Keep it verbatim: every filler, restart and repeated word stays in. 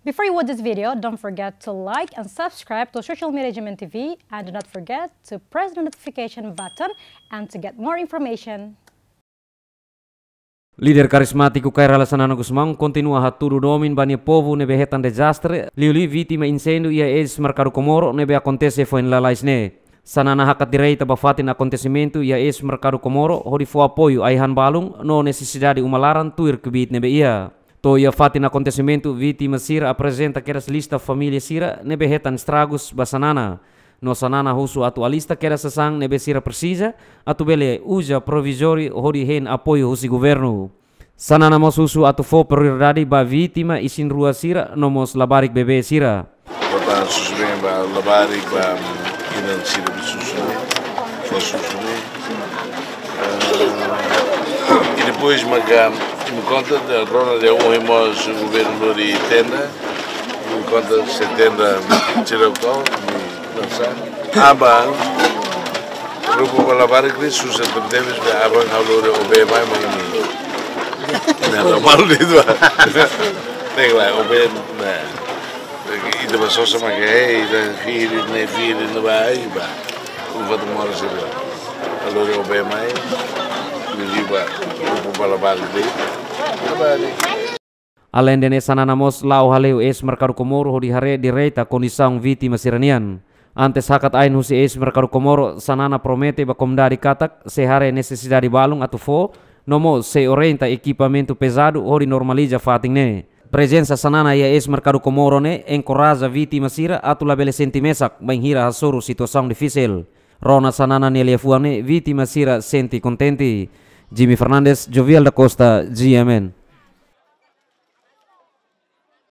Before you watch this video, don't forget to like and subscribe to Social Media G M N T V, and do not forget to press the notification button and to get more information. Líder karizmátiku Kay Rala Xanana Gusmão kontinua hatudu domin ba nia povu ne'ebé hetan dezastre, liuliu vítima inséndiu iha eis Merkadu Comoro ne'ebé akontese foin lalais ne'e. Xanana hakat direta ba fatin akontesimentu iha eis Merkadu Comoro hodi fó apoiu ai-han balun no nesesidade uma laran tuir kbiit ne'ebé iha. To'o iha fatin akontesimentu, vítima sira aprezenta kedas lista família sira ne'ebé hetan estragus ba Xanana. No Xanana husu atu alista kedas sasán ne'ebé sira presiza, atu bele uza provizóriu hodi hein apoiu husi governu. Xanana mós husu atu fó prioridade ba vítima isin-rua sira no mós labarik bebé sira. Bota susubeen ba labarik ba inan sira be susu, fó susubeen. Ah, i depois maka, imi konta, rona dehan ohin mós governu lori tenda, imi konta se tenda sira kau, imi lansa. Aban, grupu ba labarik ne'e susar tebetebes, be aban ha'u lori OB mai, mai imi. Nah, normal itu, ah. Tengok lah, OB, nah. Ita ba sosa maka, hei, ita firi, ne'e firi, ne'e ba, ai, ba. Ufa tu mora sira. Ha'u lori OB mai, imi liu ba, grupu ba labarik ne'e. Labarik. Aleinde ne'e, Xanana mós la'o hale'u eis Merkadu Comoro hodi haree direta kondisaun vítima sira-nian. Antes hakat ain husi eis Merkadu Comoro, Xanana promete ba komunidade katak sei haree nesesidade balun atu fó, no mós sei orienta ekipamentu pezadu hodi normaliza fatin ne'e. Prezensa Xanana iha eis Merkadu Comoro ne'e enkoraja vítima sira atu labele sente mesak bainhira hasoru situasaun difisil. Rona Xanana nia liafuan ne'e, vítima sira sente kontente. Jimmy Fernandes, Jovial da Costa, G M N.